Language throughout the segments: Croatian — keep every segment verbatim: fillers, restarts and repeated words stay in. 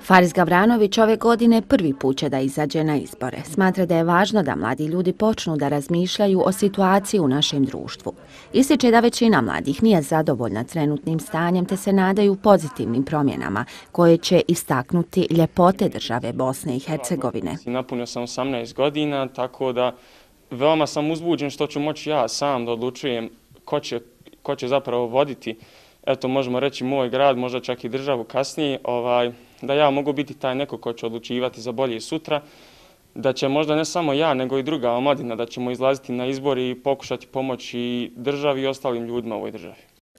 Faris Gavranović ove godine prvi put će da izađe na izbore. Smatra da je važno da mladi ljudi počnu da razmišljaju o situaciji u našem društvu. Ističe da većina mladih nije zadovoljna trenutnim stanjem te se nadaju pozitivnim promjenama koje će istaknuti ljepote države Bosne i Hercegovine. Napunio sam osamnaest godina, tako da veoma sam uzbuđen što ću moći ja sam da odlučujem ko će, ko će zapravo voditi, eto možemo reći moj grad, možda čak i državu kasnije, ovaj, da ja mogu biti taj neko ko će odlučivati za bolje sutra, da će možda ne samo ja, nego i druga omladina, da ćemo izlaziti na izbor i pokušati pomoći državi i ostalim ljudima u ovoj državi.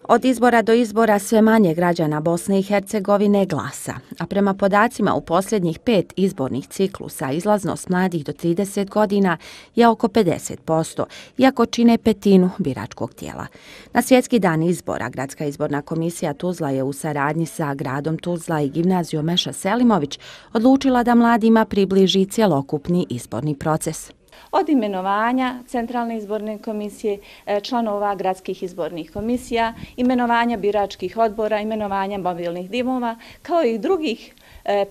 Od izbora do izbora sve manje građana Bosne i Hercegovine glasa, a prema podacima u posljednjih pet izbornih ciklusa izlaznost mladih do trideset godina je oko pedeset posto, iako čine petinu biračkog tijela. Na svjetski dan izbora Gradska izborna komisija Tuzla je u saradnji sa gradom Tuzla i gimnazijom Meša Selimović odlučila da mladima približi cjelokupni izborni proces. Od imenovanja Centralne izborne komisije, članova gradskih izbornih komisija, imenovanja biračkih odbora, imenovanja mobilnih timova, kao i drugih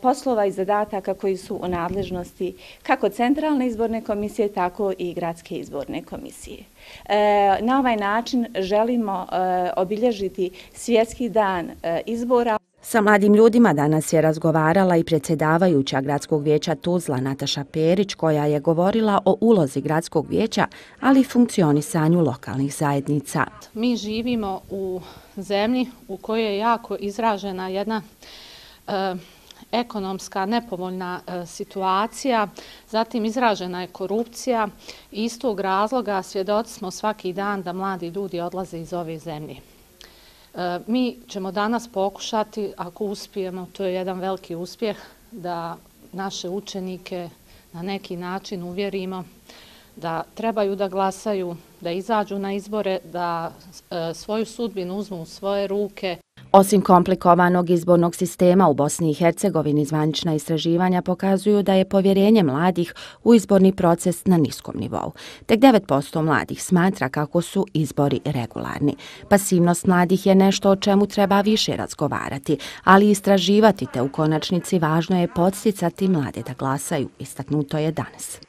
poslova i zadataka koji su u nadležnosti kako Centralne izborne komisije, tako i Gradske izborne komisije. Na ovaj način želimo obilježiti svjetski dan izbora. Sa mladim ljudima danas je razgovarala i predsjedavajuća Gradskog vijeća Tuzla Nataša Perić, koja je govorila o ulozi Gradskog vijeća, ali i funkcionisanju lokalnih zajednica. Mi živimo u zemlji u kojoj je jako izražena jedna e, ekonomska nepovoljna e, situacija, zatim izražena je korupcija i iz tog razloga svjedoci smo svaki dan da mladi ljudi odlaze iz ove zemlje. Mi ćemo danas pokušati, ako uspijemo, to je jedan veliki uspjeh, da naše učenike na neki način uvjerimo da trebaju da glasaju, da izađu na izbore, da svoju sudbinu uzmu u svoje ruke. Osim komplikovanog izbornog sistema u Bosni i Hercegovini, zvanična istraživanja pokazuju da je povjerenje mladih u izborni proces na niskom nivou. Tek devet posto mladih smatra kako su izbori regularni. Pasivnost mladih je nešto o čemu treba više razgovarati, ali i istraživati, te u konačnici važno je podsticati mlade da glasaju, istaknuto je danas.